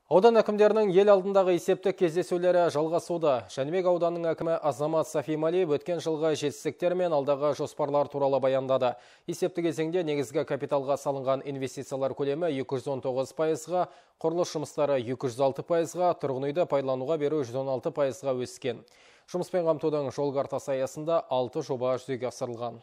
Аудан әкімдерінің ел алдындағы есептік кездесулері жалғасуда. Жәнібек ауданының әкімі Азамат Сафималиев өткен жылғы жетістіктер мен алдағы жоспарлар туралы баяндады. Есепті кезеңде негізгі капиталға салынған инвестициялар көлемі 219%-ға, құрылыс жұмыстары 206%-ға, тұрғын үйді пайдалануға беру 116%-ға өскен. Жұмыспен қамтудың жол картасы аясында 6 жоба жүзеге асырылған.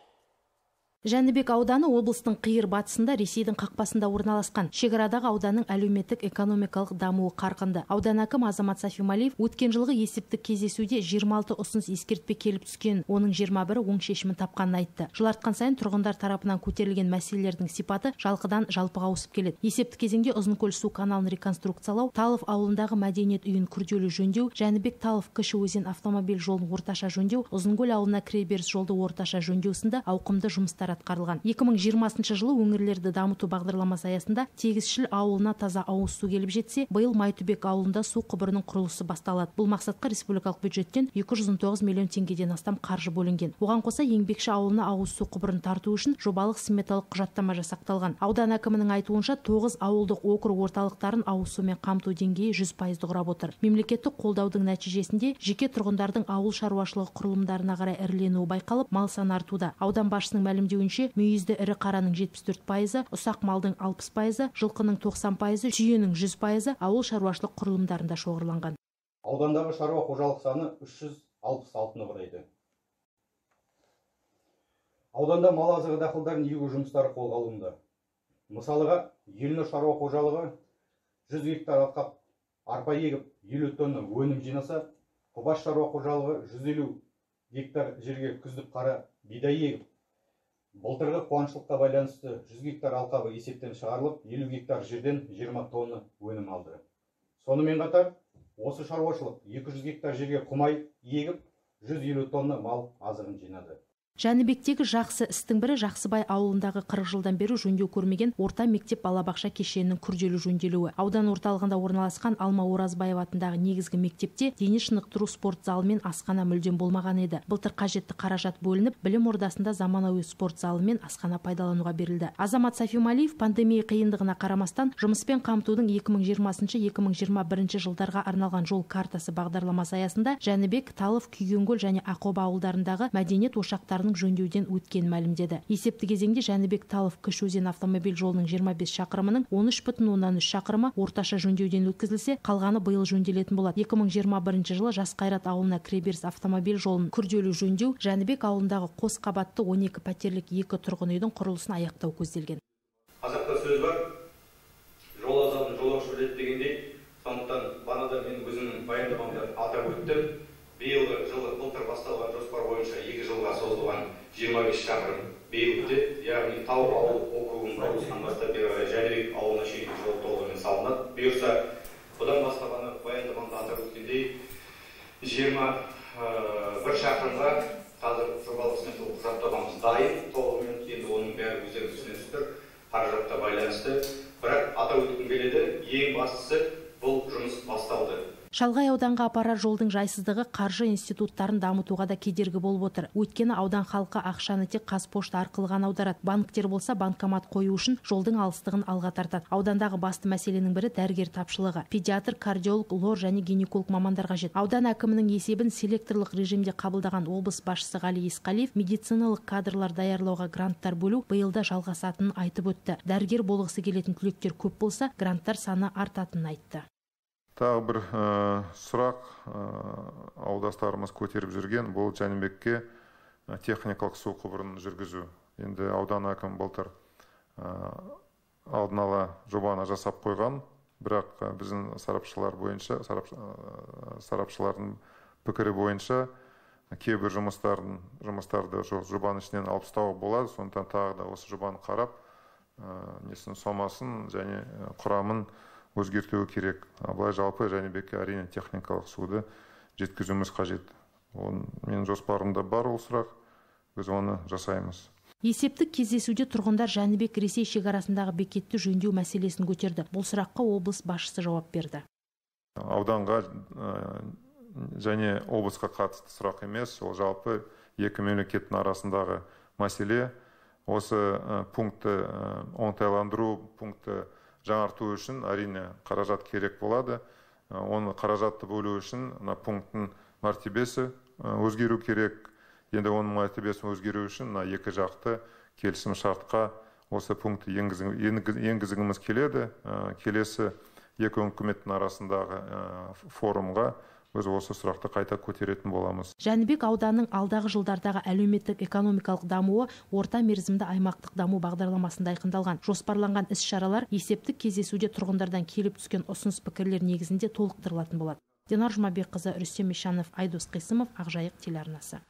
Жәнібек ауданы облыстың қиыр батысында Ресейдің қақпасында орналасқан. Шекарадағы ауданның әлеуметтік экономикалық дамуы қарқынды. Аудан әкімі Азамат Сафималиев өткен жылғы есептік кездесуде 26 ұсыныс ескертпе келіп түскен, оның 21-і оң шешімін тапқанын айтты. Жыл артқан сайын тұрғындар тарапынан көтерілген мәселелердің сипаты жалқыдан жалпыға ауысып келеді. Есептік кезеңде Ұзынкөл су каналын реконструкциялау, Талов ауылындағы мәдениет үйін күрделі жөндеу, Жәнібек Талов кіші өзен автомобиль жолын орташа жөндеу, Ұзынкөл ауылына кіреберіс жолды орташа жөндеу сынды ауқымды жұмыстар атқарылған. 2020 жылы өңірлерді дамыту бағдарламасы аясында Тегісшіл ауылына таза ауыз су келіп жетсе, биыл Майтөбек ауылында су құбырының құрылысы басталады. Бұл мақсатқа республикалық бюджеттен 219 миллион теңгеден астам қаржы бөлінген. Оған қоса Еңбекші ауылына ауыз су құбырын тарту үшін жобалық сметалық құжаттама жасақталған. Аудан әкімінің айтуынша 9 ауылдық округ орталықтарын ауыз сумен қамту деңгейі 100% құрап отыр. Мемлекеттік қолдаудың нәтижесінде жеке тұрғындардың ауыл шаруашылығы құрылымдарына қарай іріленуі байқалып, мал саны артуда. Аудан басшысының мәлімдеуінше, мүйізді ірі қараның 74%, ұсақ малдың 60%, жылқының 90%, түйенің 100% ауыл шаруашылық құрылымдарында шоғырланған. Аудандағы шаруа қожалық саны 366-ны құрайды. Ауданда мал азығы дақылдарын егу жұмыстары қолға алынды. Мысалыға, Еліні шаруа қожалығы 100 гектар алқап арпа егіп 50 тонна өнім жинаса, Құбаш шаруа қожалығы 150 гектар жерге күздік қара бидай егіп, былтырғы қуаңшылыққа байланысты 100 гектар алқабы есептен шығарылып, 50 гектар жерден 20 тонна өнім алды. Сонымен қатар, осы шаруашылық 200 гектар жерге құмай егіп, 150 тонна мал азығын жинады. Жәнібектегі жақсы істің бірі Жақсыбай ауылындағы 40 жылдан бері жөндеу көрмеген орта мектеп балабақша кешенінің күрделі жөнделуі. Аудан орталығында орналасқан Алма Оразбаев атындағы негізгі мектепте дене шынықтыру спорт залы мен асхана мүлдем болмаған еді. Былтыр қажетті қаражат бөлініп, білім ордасында заманауи спорт залы мен асхана пайдалануға берілді. Азамат Сафималиев пандемия қиындығына қарамастан жұмыспен қамтудың 2020-2021 жылдарға арналған жол картасы бағдарламасы аясында Жәнібек, Талов, Күйгенкөл және Ақоба ауылдарындағы мәдениет ошақтарын жөндеуден өткен мәлімдеді. Есепті кезеңде Жәнібек Талов кіші өзен автомобиль жолының 25 шақырымының 13,3 шақырымы орташа жөндеуден өткізілсе, қалғаны биыл жөнделетін болады. 2021 жылы Жас Қайрат ауылына кіреберіс автомобиль жолын күрделі жөндеу, Жәнібек ауылындағы қос қабатты 12 пәтерлік 2 тұрғын үйдің құрылысын аяқтау көзделген. Қазақта сөз бар, жол азабын жолаушы біледі дегендей, сондықтан бағана мен өзімнің баяндамамда атап өттім. Биылғы жылы былтыр басталған жоспар бойынша 2 жылға созылған 25 шақырым биыл бітеді, яғни Талов ауыл округының құрылысынан бастап бері Жәнібек ауылына шейін жол толығымен салынады. Бұйырса, бұдан басқа ғана баяндамамда атап өткендей 21 шақырымға қазір жобалық сметалық құжаттамамыз дайын, толығымен енді оның бәрі өздеріңіз түсінесіздер тұр, қаражатқа байланысты. Бірақ атап өткім келеді, ең бастысы бұл жұмыс басталды. Шалғай ауданға апарар жолдың жайсыздығы қаржы институттарын дамытуға да кедергі болып отыр. Өйткені аудан халқы ақшаны тек Қазпошта арқылы ғана аударады. Банктер болса банкомат қою үшін жолдың алыстығын алға тартады. Аудандағы басты мәселенің бірі дәрігер тапшылығы. Педиатр, кардиолог, лор және гинеколог мамандар қажет. Аудан әкімінің есебін селекторлық режимде қабылдаған облыс басшысы Ғали Есқалиев медициналық кадрлар даярлауға гранттар бөлу биылда жалғасатынын айтып өтті. Дәрігер болғысы келетін түлектер көп болса, гранттар саны артатынын айтты. Тағы бір сұрақ аудастарымыз көтеріп жүрген, бұл Жәнібекке техникалық су құбырын жүргізу. Енді аудан әкім былтыр алдын ала жобаны жасап қойған, бірақ біздің сарапшылардың пікірі бойынша кейбір жұмыстарды жобаның ішінен алып тастауға болады. Сондықтан тағы да осы жобаны қарап, сомасын және құрамын өзгертуі керек. Былай жалпы Жәнібекке әрине техникалық суды жеткізуіміз қажет. Мен жоспарымда бар ол сұрақ, біз оны жасаймыз. Есептік кездесуде тұрғындар Жәнібек Ресей шекарасындағы бекетті жөндеу мәселесін көтерді. Бұл сұраққа облыс басшысы жауап берді. Ауданға және облысқа қатысты сұрақ емес, ол жалпы екі мемлекеттің арасындағы мәселе. Осы пунктті оңтайландыру, пунктті жаңарту үшін әрине қаражат керек болады. Оны қаражатты бөлу үшін пункттың мәртебесі өзгеру керек. Енді оның мәртебесі өзгеру үшін екі жақты келісім шартқа осы пунктті енгізгіміз келеді. Келесі екі үкіметтің арасындағы форумға біз осы сұрақты қайта көтеретін боламыз. Жәнібек ауданының алдағы жылдардағы әлеуметтік экономикалық дамуы орта мерзімді аймақтық даму бағдарламасында айқындалған. Жоспарланған іс-шаралар есептік кездесуде тұрғындардан келіп түскен ұсыныс пікірлер негізінде толықтырылатын болады. Динар Жұмабекқызы, Рүстем Ишанов, Айдос Қисымов, Ақжайық телеарнасы.